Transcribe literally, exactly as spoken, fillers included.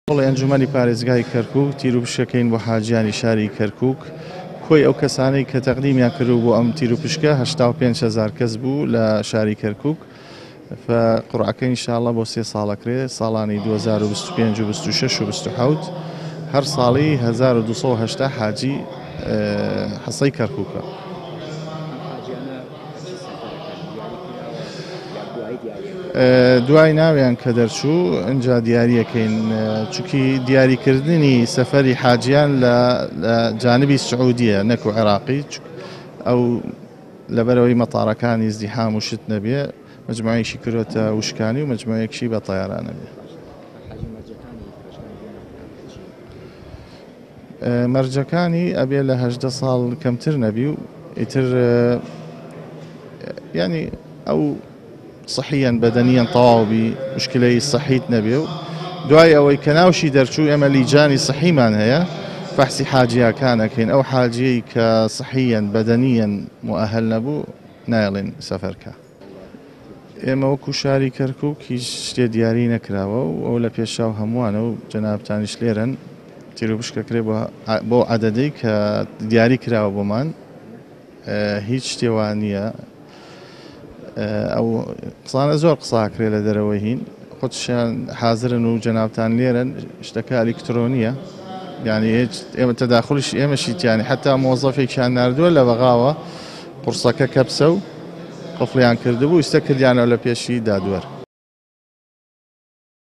هۆڵی ئەنجومەنی پارێزگای کەرکوک تیروپشکەکەین بۆ حاجیانی شاری کەرکوک. کۆی ئەو کەسانەی کە تەقدیمیان کردو بۆ ئەم تیروپشکە هەشتا و پێنج هەزار کەس بوو لە شاری کەرکوک. فقڕعەکە ئینشاءڵڵا بۆ سێ ساڵەکرێ، ساڵانی دوو هەزار و بیست و پێنج و بیست و شەش و بیست و حەوت، هەر ساڵی هەزار و دوو سەد و هەشتا حاجی حەسەی کەرکوکە. دوای ناویان کە دەرچوو ئینجا دیاریەکەین، چونکی دیاریکردنی سەفەری حاجیان لە جانبی سعودیە نەکو عێراقی، ئەو لەبەرەوەی مەتارەکانی ازدیحام و شت نەبێ مجموعەیەکی کردوتە وشکانی و مجموعەیەکشی بە تەیارانە بێ. مەرجەکانی ئەبێ لە هەژدە ساڵ کەمتر نەبی و ئیتر ینی ئەو صحیان بەدەنیان تەواو بی، مشکلەی صحیت نەبێ و دوای ئەوەی کە ناوشی دەرچوو ئێمە لیجانی صحیمان هەیە فەحسی حاجیەکان ئەکەین. ئەو حاجیەی کە صحیان بەدەنیان مؤهل نەبوو نایڵێن سەفەرکە. ئێمە وەکو شاری کەرکوک هیچ شتێ دیاری نەکراوە و ئەو لە پێشاو هەمووانە و جەنابتانیش لێرن تیروپشکەکرێ بۆ عەدەدەی کە دیاری کراوە بۆمان، هیچ شتێوان نییە. ئەو قسانە زۆر قساکرێ لە دەرەوەی هین، خۆشیان حازرن و جەنابتان لێرن، شتەکە ئەلیکترۆنیە، یعنی هیچ ئێمە تەداخلیش ئێمەشیتیانی حتا مۆزەفێکیان ناردووە لە بەغاوە قورسەکە کەپسە و قفڵیان کردبوو، ئیستا کردیانەوە لە پێشی دادوەر.